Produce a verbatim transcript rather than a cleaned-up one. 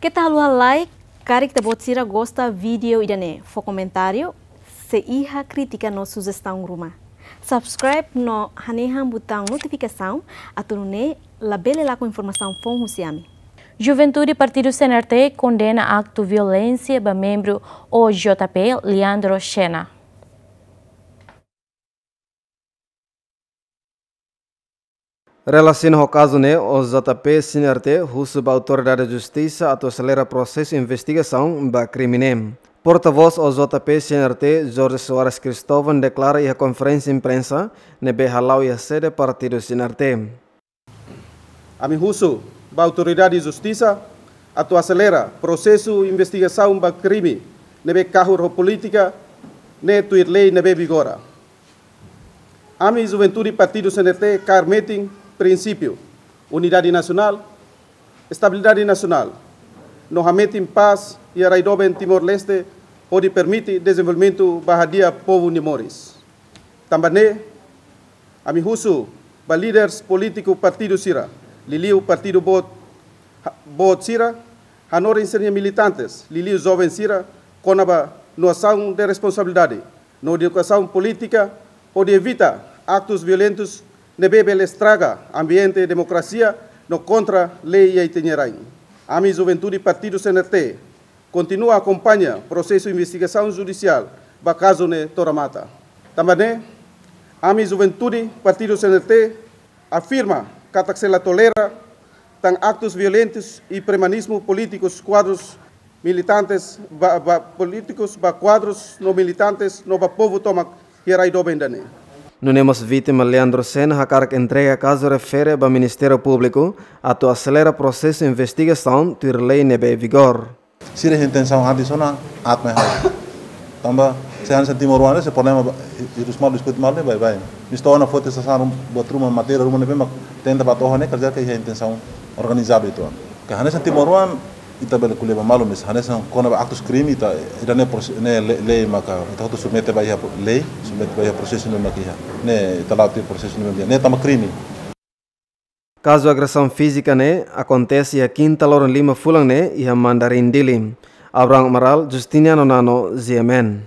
Keta haluha like, karik ita-boot sira gosta vídeo ida-ne'e, fó komentáriu, se iha krítika no sujestaun ruma. Subscribe no hanehan butaun notifikasaun, atu nune'e labele lakon informasaun foun husi ami. Juventude Partidu C N R T kondena aktu violénsia ba membru O J P Leandro Xena. Relasiona ho kazu ne'e, O J P C N R T husu ba Autoridade Justisa atu aselera prosesu investigasaun ba krime ne'e. Portavós O J P C N R T, Jorge Soares Cristóvão, deklara iha konferénsia imprensa ne'ebé hala'o iha sede partidu C N R T. Ami husu ba Autoridade Justisa atu aselera prosesu investigasaun ba krime ne'ebé kahur ho polítika ne'e tuir lei ne'ebé vigora. Ami Juventude Partidu C N R T kaer metin prinsípiu unidade nasionál, estabilidade nasionál, no hametin pás iha rai doben Timor-Leste, hodi permite dezenvolvimentu ba hadi'a povu nia moris. Tanba ne'e, ami husu ba líderes polítiku partidu sira, liuliu partidu boot, ha-, boot sira, hanorin sira-nia militantes, liuliu joven sira, kona-ba nosaun de responsabilidade no edukasaun polítika, hodi evita aktus violentus ne'ebé bele estraga ambiente demokrasia no kontra lei iha ita-nia rain. Ami Juventude Partidu C N R T kontinua akompaña prosesu investigasaun judisiál ba kazu ne'e to'o remata. Tanba ne'e, ami Juventude Partidu C N R T afirma katak sei la tolera tan aktus violentus i premanismu polítikus kuadrus militantes ba, ba polítikus ba kuadrus no militantes no ba povu tomak iha rai doben ida-ne'e. Nune'e mós vítima Leandro Xena hakarak entrega kazu refere ba Ministériu Públiku atu aselera prosesu investigasaun tuir lei ne'ebé vigor. Sira iha intensaun hadi sona atma hadi. Tanba se hanesan timoroan se problema ba, i, i dus mal diskute mal ne'e baibain. Mista ona foti sasán buat ruma matéria ruma ne'ebé mak tenta ba to'o ne'e kerja ke iha intensaun organizadu uitoan. Ke hanesan timoroan ita bele ko'alia ba malu, mais hanesan kona-ba aktus krime ita, ita-nia prose-, nia le-, lei maka ita hotu submete ba iha pro-, lei, submete ba iha prosesu ne'ebé mak iha. Ne'e ita la'o tiha prosesu ne'ebé mak iha. Ne'e tanba krime. Kazu agresaun fízika ne'e akontese iha kinta loron lima fulan ne'e iha Mandarin Dili. Abraham Amaral, Justiniano Nano, G M N.